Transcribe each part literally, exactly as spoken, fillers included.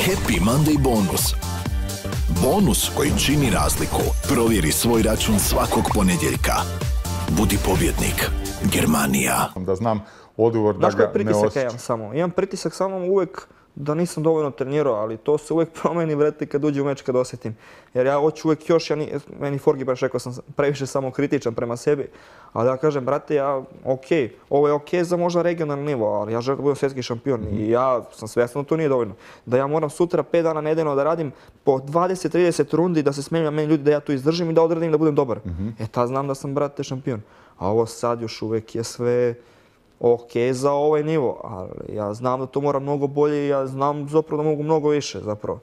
Happy Monday bonus. Bonus koji čini razliku. Provjeri svoj račun svakog ponedjeljka. Budi pobjednik. Germanija. Da znam odgovor da ga ne osjećam. Znaš koji pritisak ja imam samo? Imam pritisak samo uvijek da nisam dovoljno trenirao, ali to se uvijek promeni, vrati, kad uđe u meč, kad osjetim. Jer ja hoću uvijek još, ja ni, meni Forgi baš rekao sam previše samokritičan prema sebi, ali ja kažem, brate, ja, okej, ovo je okej za možda regionalni nivo, ali ja želim da budem svjetski šampion i ja sam svjestan da to nije dovoljno. Da ja moram sutra pet dana nedeljno da radim po dvadeset trideset rundi, da se smijem meni ljudi da ja to izdržim i da odradim da budem dobar. E tad znam da sam, brate, šampion. A ovo sad još uvijek je sve ok za ovaj nivo, ali ja znam da to mora mnogo bolje i ja znam zapravo da mogu mnogo više zapravo.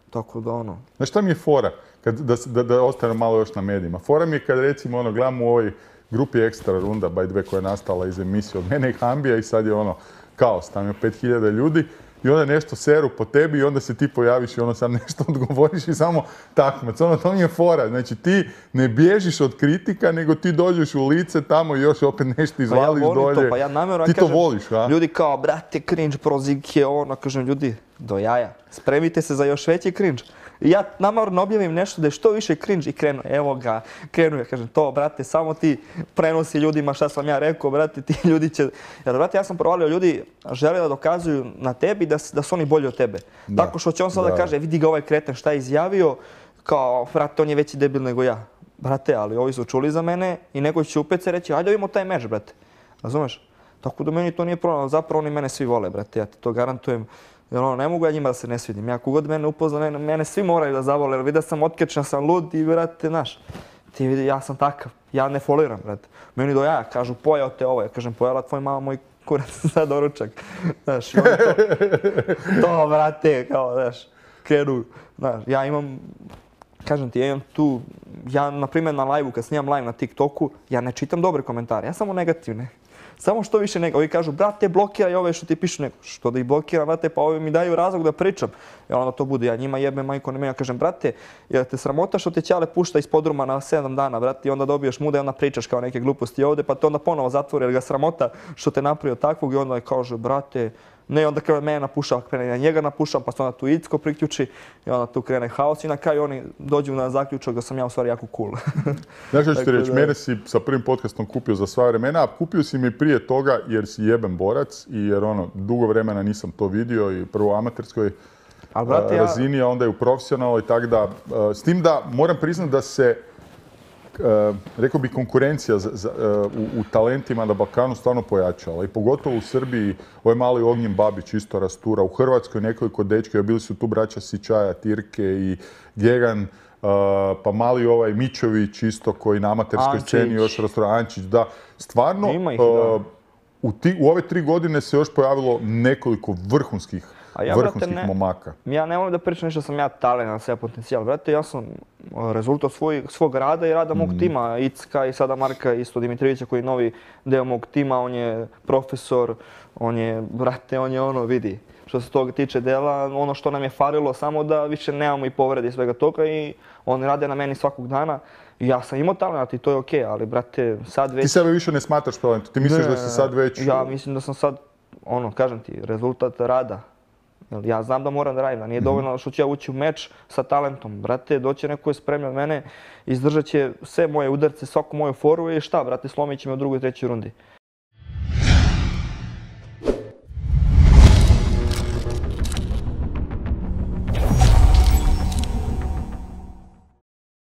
Tako da ono... Znaš šta mi je fora? Kad, da, da, da ostanem malo još na medijima. Fora mi je kad recimo ono, gledam u ovoj grupi Ekstra runda, by the way, koja je nastala iz emisije od mene i Hambija i sad je ono kaos, tam je pet hiljada ljudi i onda nešto seru po tebi i onda se ti pojaviš i ono sam nešto odgovoriš i samo takmac. Ono, to mi je fora. Znači ti ne bježiš od kritika, nego ti dođeš u lice tamo i još opet nešto izvališ pa ja dolje. To, pa ja namjerno, ti kažem, to voliš, a? Ljudi kao, brate, cringe, prozivke, ono, kažem, ljudi, do jaja. Spremite se za još veći cringe. I ja namjerno objavim nešto da je što više cringe i krenu, evo ga, krenu ja kažem to, brate, samo ti prenosi ljudima šta sam ja rekao, brate, ti ljudi će... Jer, brate, ja sam provalio, ljudi žele da dokazuju na tebi da, da su oni bolji od tebe. Da. Tako što će on sada da kaže, vidi ga ovaj kreten šta je izjavio, kao, brate, on je veći debil nego ja. Brate, ali ovi su čuli za mene i neko će upet se reći, ajde vidimo taj meč, brate. Razumeš? Tako da meni to nije problem, zapravo oni mene svi vole, brate, ja ti to garantujem. Jer ono, ne mogu ja njima da se ne svidim. Ja kogod mene upozna, mene, mene svi moraju da zavole, jer vidio sam otkečan, sam lud i, brate, znaš, ti vidi, ja sam takav, ja ne foliram, brate. Meni do jaja, kažu, pojao te ovo, ja kažem, pojela tvoj mama moj kurac za doručak. Znaš, i oni to, to, brate, kao, znaš, krenu, znaš, ja imam, kažem ti, ja imam tu, ja, na primjer, na live-u, kad snimam live na TikToku, ja ne čitam dobre komentare, ja samo negativne. Samo što više nego. Ovi kažu, brate, blokiraj ove što ti pišu neko. Što da ih blokiram, brate, pa ovi mi daju razlog da pričam. I onda to bude, ja njima jebem, majko, ne me, ja kažem, brate, jer te sramota što te ćale pušta iz podruma na sedam dana, brate, i onda dobiješ muda i onda pričaš kao neke gluposti ovdje, pa te onda ponovo zatvori, jer ga sramota što te napravio takvog i onda kaže, brate, ne, onda krene mene napušava, krene na njega napušava, pa se onda tu Icko priključi i onda tu krene haos i na kraju oni dođu na zaključak da sam ja u stvari jako cool. Znaš što ću ti reći, mene si sa prvim podcastom kupio za sva vremena, a kupio si mi prije toga jer si jeben borac i jer ono, dugo vremena nisam to vidio i prvo u amaterskoj Al, brate, razini, a onda i u profesionalnoj, tako da, s tim da moram priznati da se Uh, rekao bi konkurencija za, za, uh, u, u talentima na Balkanu stvarno pojačala i pogotovo u Srbiji ovaj mali Ognjen Babić isto rastura, u Hrvatskoj nekoliko dečka, bili su tu braća Sičaja, Tirke i Gegan, uh, pa mali ovaj Mičović isto koji na amaterskoj sceni još rastura, Ančić, da, stvarno ih, uh, da. U, ti, u ove tri godine se još pojavilo nekoliko vrhunskih A ja, vrhunskih brate, ne, momaka. Ja ne volim da pričam ništa sam ja talent, sve potencijal. Brate, ja sam rezultat svoj, svog rada i rada mog Mm. tima. Icka i sada Marka isto Dimitrijevića koji je novi deo mog tima. On je profesor, on je, brate, on je ono, vidi. Što se toga tiče dela, ono što nam je falilo samo da više nemamo i povrede i svega toga i oni rade na meni svakog dana. I ja sam imao talent i to je okej, ali brate, sad već... Ti sebe više ne smatraš talentom, ti misliš ne, da si sad već... Ja mislim da sam sad, ono, kažem ti, rezultat rada. Ja znam da moram da radim, da nije dovoljno što ću ja ući u meč sa talentom. Brate, doće neko je spremljen od mene, izdržat će sve moje udarce, svaku moju foru i šta, brate, slomit će me u drugoj i trećoj rundi.